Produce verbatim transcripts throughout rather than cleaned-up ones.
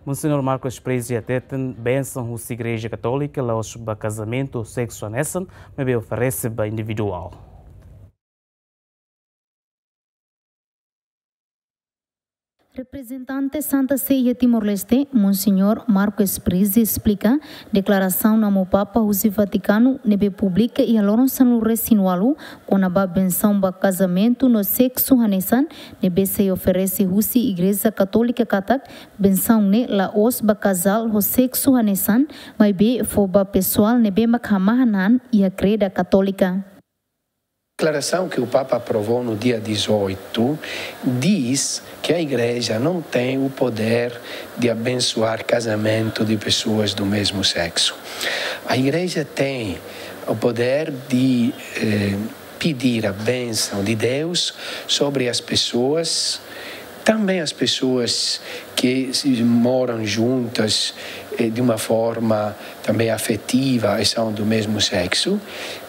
Monsenhor Marcos Prizzi hateten bensaun husi Igreja Katólika la'ós ba kazamentu seksu hanesan, maibé oferese ba individuál. Reprezentante Santa Sé iha Timor-Leste, Monsenhor Marcos Prizzi esplika deklarasaun Amu Papa husi Vatikanu ne'ebé publika iha loron sanulu-resin-ualu kona-ba bensaun ba kazamentu no seksu hanesan, ne'ebé sei oferese husi Igreja Katólika katak bensaun ne'e la'ós ba kazál ho seksu hanesan, maibé fó ba pesoál ne'ebé mak hamahan an iha kreda Katólika. A declaração que o Papa aprovou no dia dezoito diz que a Igreja não tem o poder de abençoar casamento de pessoas do mesmo sexo. A Igreja tem o poder de eh, pedir a bênção de Deus sobre as pessoas, também as pessoas que se- moram juntas eh, de uma forma também afetiva e são do mesmo sexo,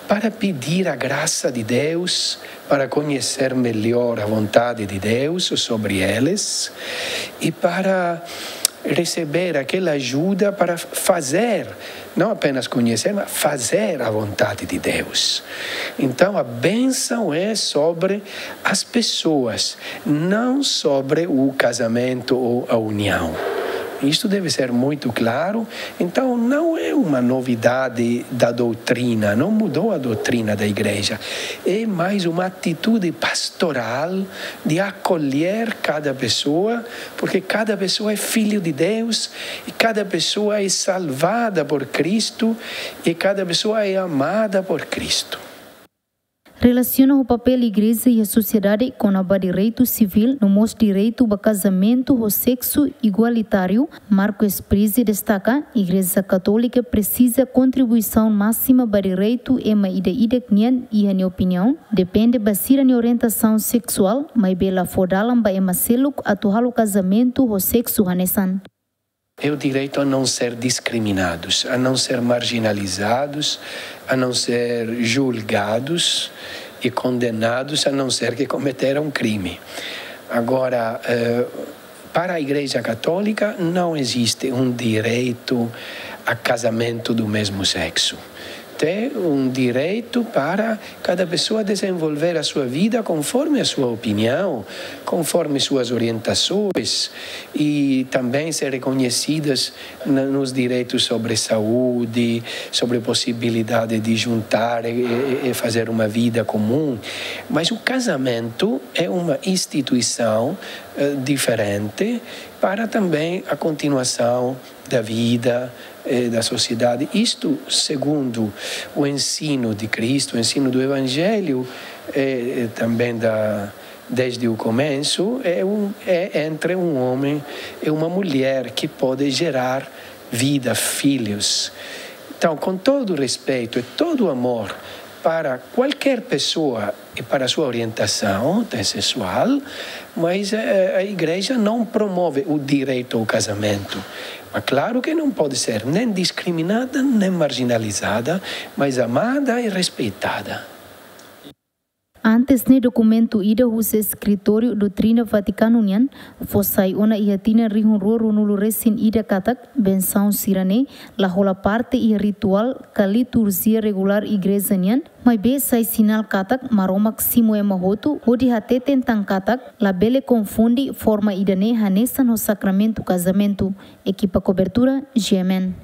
para pedir a graça de Deus, para conhecer melhor a vontade de Deus sobre eles e para receber aquela ajuda para fazer, não apenas conhecer, mas fazer a vontade de Deus. Então a bênção é sobre as pessoas, não sobre o casamento ou a união. Isto deve ser muito claro. Então, não é uma novidade da doutrina, não mudou a doutrina da igreja. É mais uma atitude pastoral de acolher cada pessoa, porque cada pessoa é filho de Deus e cada pessoa é salvada por Cristo e cada pessoa é amada por Cristo. Relasiona ho papél Igreja iha sosiedade kona-ba direitu sivíl no mós direitu ba kazamentu ho seksu igualitáriu, Marcos Prizzi destaka, Igreja Katólika presiza kontribuisaun másima ba direitu ema ida-idak nian, iha nia opiniaun, depende ba sira-nia orientasaun seksuál, maibé la fó dalan ba ema seluk atu halo kazamentu ho seksu hanesan. É o direito a não ser discriminados, a não ser marginalizados, a não ser julgados e condenados, a não ser que cometeram crime. Agora, eh, para a Igreja Católica, não existe um direito a casamento do mesmo sexo. Tem um direito para cada pessoa desenvolver a sua vida conforme a sua opinião, conforme suas orientações e também ser reconhecidas na- nos direitos sobre saúde, sobre possibilidade de juntar e, e- e fazer uma vida comum. Mas o casamento é uma instituição eh, diferente para também a continuação da vida eh, da sociedade. Isto segundo o ensino de Cristo, o ensino do Evangelho, eh, eh, também da, desde o começo, é, um, é entre um homem e uma mulher que pode gerar vida, filhos. Então, com todo respeito e todo amor para qualquer pessoa e para sua orientação sexual, mas eh, a igreja não promove o direito ao casamento. Mas claro que não pode ser nem discriminada, nem marginalizada, mas amada e respeitada. Antes ne'e, dokumentu ida husi eskritóriu Doutrina Vatikanu nian fó sai ona iha tinan rihun rua ruanulu-resin-ida katak bensaun sira-ne'e la hola parte iha rituál ka liturjia regulár Igreja nian, maibé sai sinál katak Maromak simu ema hotu hodi hateten tan katak labele konfunde forma ida-ne'e hanesan ho sakramentu kazamentu. Ekipa kobertura, G M N.